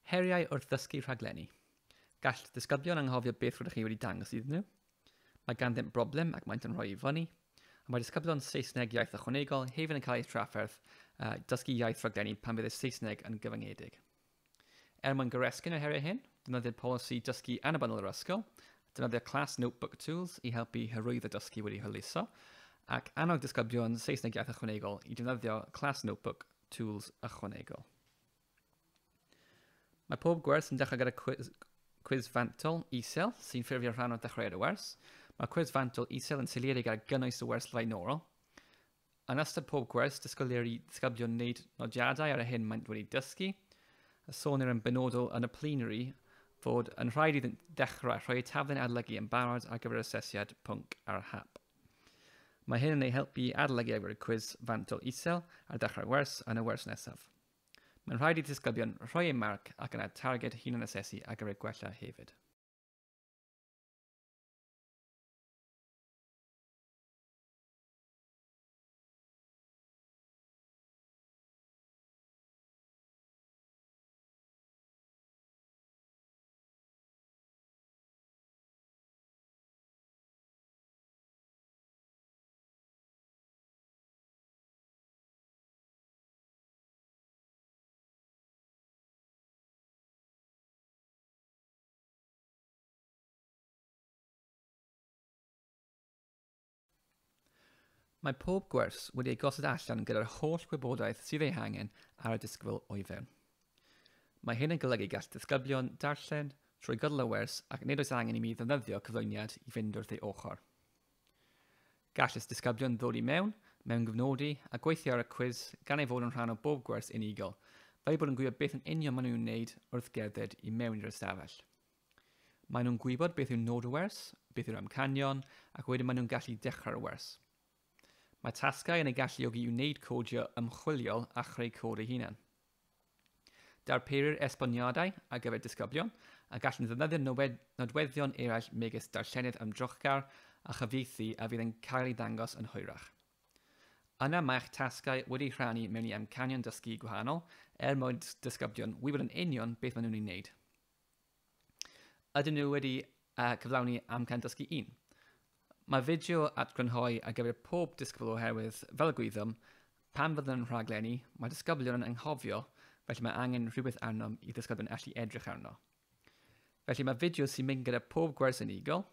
Heriau wrth ddysgu rhaglenni. Gall disgyblion anghofio beth rydych chi wedi dangos iddyn nhw. Mae ganddynt broblem ac maent yn rhoi i fyny. A mae disgyblion Saesneg iaith ychwanegol hefyd yn cael eu trafferth dysgu iaith rhaglenni pan fydd y Saesneg yn gyfyngedig. Er mwyn goresgyn yr heriau hyn, defnyddir polisi dysgu annibynnol yr ysgol, defnyddio Class Notebook Tools i helpu hyrwyddo dysgu wedi hwyluso, ac annog disgyblion Saesneg iaith ychwanegol i defnyddio Class Notebook Tools ychwanegol. Mae pob gwers yn dechrau gyda cwiz, cwiz fantol isel sy'n ffurfio rhan o ddechreuad y wers. Mae cwiz fantol isel yn seiliedig ar gynnwys y wers flaenorol. Yn ystod pob gwers, disgwylir i ddisgyblion wneud nodiadau ar y hyn maent wedi dysgu, a sonir yn benodol yn y plenary fod yn rhaid iddynt ddechrau rhoi eu taflen adolygu yn barod ar gyfer asesiad pwnc ar hap. Mae hyn yn eu helpu i adolygu ar gyfer y cwiz fantol isel ar ddechrau'r wers yn y wers nesaf. Mae'n rhaid i ddisgyblion rhoi eu marc ac yna targed hunan-asesu ar gyfer gwella hefyd. Mae pob gwers wedi ei gosod allan gyda'r holl wybodaeth sydd ei hangen ar y disgybl o'i fewn. Mae hyn yn golygu gall disgyblion darllen trwy gydol y wers ac nid oes angen i mi ddefnyddio cyflwyniad i fynd wrth ei ochr. Gall y disgyblion ddod i mewn, mewngofnodi a gweithio ar y cwis gan ei fod yn rhan o bob gwers unigol, fel eu bod yn gwybod beth yn union maen nhw'n wneud wrth gerdded i mewn i'r ystafell. Maen nhw'n gwybod beth yw nod y wers, beth yw'r amcanion, ac wedyn maen nhw'n gallu dechrau'r wers. Mae tasgau yn eu galluogi i wneud codio ymchwiliol a chreu cod eu hunain. Darperir esboniadau ar gyfer disgyblion a gallwn ddefnyddio nodweddion eraill megis darllenydd ymdrochgar a chyfieithu a fydd yn cael ei ddangos yn hwyrach. Yna mae'ch tasgau wedi rhannu mewn i amcanion dysgu gwahanol er mwyn disgyblion wybod yn union beth maen nhw'n ei wneud. Ydyn nhw wedi cyflawni amcan dysgu 1? Mae fideo atgrynhoi ar gyfer pob disgybl oherwydd, fel y gwyddom, pan fyddwn yn rhaglenni, mae disgyblion yn anghofio, felly mae angen rhywbeth arnom i ddisgyblion allu edrych arno. Felly mae fideo sy'n mynd gyda pob gwers unigol,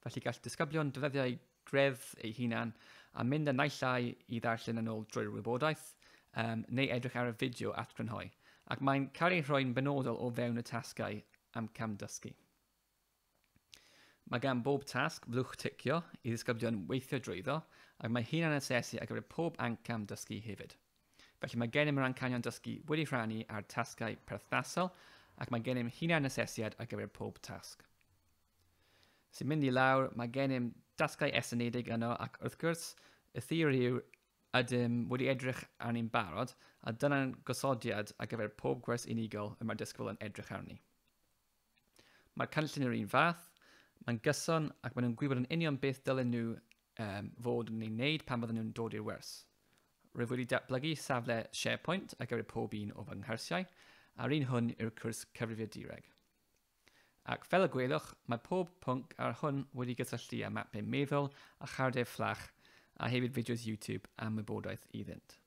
felly gall disgyblion defnyddio eu greddf eu hunan a mynd â naill ai i ddarllen yn ôl drwy'r wybodaeth, um, neu edrych ar y fideo atgrynhoi, ac mae'n cael ei rhoi'n benodol o fewn y tasgau am cam dysgu. Mae gan bob tasg flwch ticio i ddisgyblion weithio drwyddo ac mae hunan asesu ar gyfer pob ancam dysgu hefyd. Felly mae gennym yr ancanion dysgu wedi rhannu ar tasgau perthnasol ac mae gennym hunan asesiad ar gyfer pob tasg. Sy'n mynd i lawr, mae gennym dasgau estynedig yno ac wrth gwrs, y theori yw ydym wedi edrych arni'n barod a dyna'n gosodiad ar gyfer pob gwers unigol y mae'r disgybl yn edrych arni. Mae'r cynllun yr un fath, mae'n gyson ac maen nhw'n gwybod yn union beth dylen nhw um, fod yn ei wneud pan fydden nhw'n dod i'r wers. Rwyf wedi datblygu safle SharePoint ar gyfer pob un o fy nghyrsiau, a'r un hwn yw'r cwrs cyfrifiadureg. Ac fel y gwelwch, mae pob pwnc ar hwn wedi gysylltu â mapau meddwl a chardiau fflach a hefyd fideos YouTube am wybodaeth iddynt.